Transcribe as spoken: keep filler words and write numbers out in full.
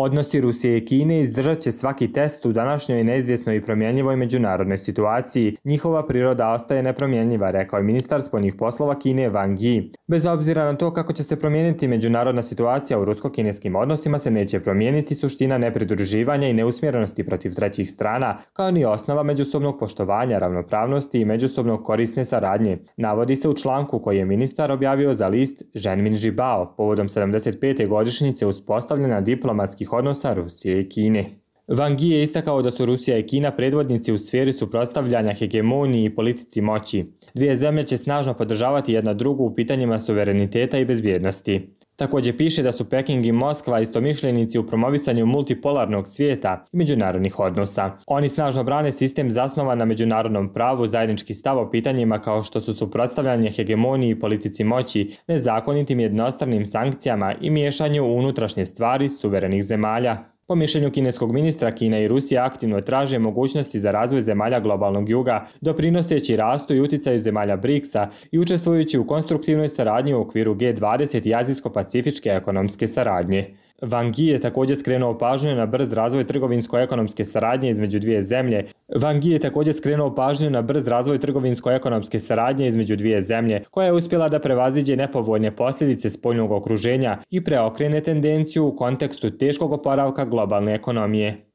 Odnosi Rusije i Kine izdržat će svaki test u današnjoj neizvjesnoj i promjenjivoj međunarodnoj situaciji. Njihova priroda ostaje nepromjenjiva, rekao je ministar spoljnih poslova Kine Wang Yi. Bez obzira na to kako će se promijeniti međunarodna situacija u rusko-kineskim odnosima se neće promijeniti suština nepridruživanja i neusmjerenosti protiv trećih strana, kao ni osnova međusobnog poštovanja, ravnopravnosti i međusobnog korisne saradnje. Navodi se u članku koji je ministar objavio za list Zhenmin Žibao povodom sedamdeset pete godišnjice uspostavljena diplomatskih odnosa Rusije i Kine. Wang Yi je istakao da su Rusija i Kina predvodnici u sferi suprotstavljanja hegemoniji i politici moći. Dvije zemlje će snažno podržavati jedna drugu u pitanjima suvereniteta i bezbjednosti. Također piše da su Peking i Moskva istomišljenici u promovisanju multipolarnog svijeta i međunarodnih odnosa. Oni snažno brane sistem zasnovan na međunarodnom pravu, zajednički stav o pitanjima kao što su suprotstavljanje hegemoniji i politici moći, nezakonitim jednostranim sankcijama i miješanju u unutrašnje stvari suverenih zemalja. Po mišljenju kineskog ministra, Kina i Rusija aktivno traže mogućnosti za razvoj zemalja globalnog juga, doprinoseći rastu i uticaju zemalja briksa i učestvujući u konstruktivnoj saradnji u okviru G dvadeset i azijsko-pacifičke ekonomske saradnje. Wang Yi je također skrenuo pažnju na brz razvoj trgovinsko-ekonomske saradnje između dvije zemlje. Wang Yi je također skrenuo pažnju na brz razvoj trgovinsko-ekonomske saradnje između dvije zemlje, koja je uspjela da prevaziđe nepovoljne posljedice spoljnog okruženja i preokrene tendenciju u kontekstu teškog oporavka globalne ekonomije.